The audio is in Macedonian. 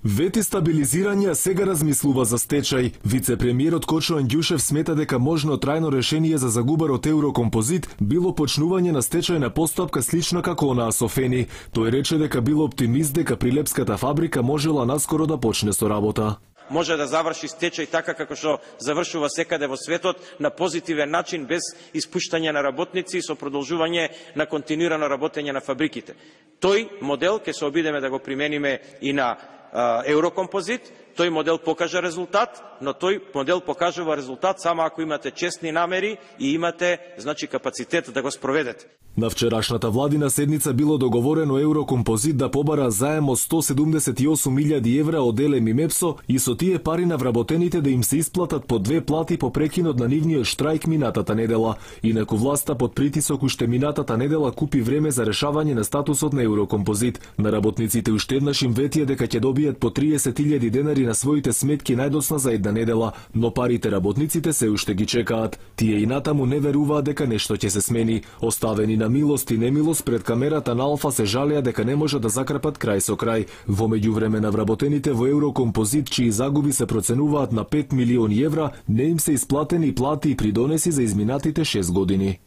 Вети стабилизирање, а сега размислува за стечај. Вице-премиерот Кочо Андјушев смета дека можно трајно решение за загубарот Еврокомпозит било почнување на стечајна постапка слична како онаа со Фени. Тој рече дека бил оптимист дека Прилепската фабрика можела наскоро да почне со работа. Може да заврши стечај така како што завршува секаде во светот, на позитивен начин, без испуштање на работници и со продолжување на континуирано работење на фабриките. Тој модел ќе се обидеме да го примениме и на Еврокомпозит. Тој модел покажа резултат, но тој модел покажува резултат само ако имате честни намери и имате, капацитет да го спроведете. На вчерашната владина седница било договорено Еврокомпозит да побара заем од 178.000 евра од ЕЛЕМ и МЕПСО и со тие пари на вработените да им се исплатат по 2 плати по прекинот на нивниот штрајк минатата недела. Инаку власта под притисок уште минатата недела купи време за решавање на статусот на Еврокомпозит. На работниците уште еднаш им ветија дека ќе добијат по 30.000 денари на своите сметки најдосна за една недела, но парите работниците се уште ги чекаат. Тие и натаму не веруваат дека нешто ќе се смени. Оставени на милост и немилост пред камерата на Алфа се жалеа дека не може да закрепат крај со крај. Во меѓувреме на вработените во Еврокомпозит, чии загуби се проценуваат на 5 милиони евра, не им се исплатени плати и придонеси за изминатите 6 години.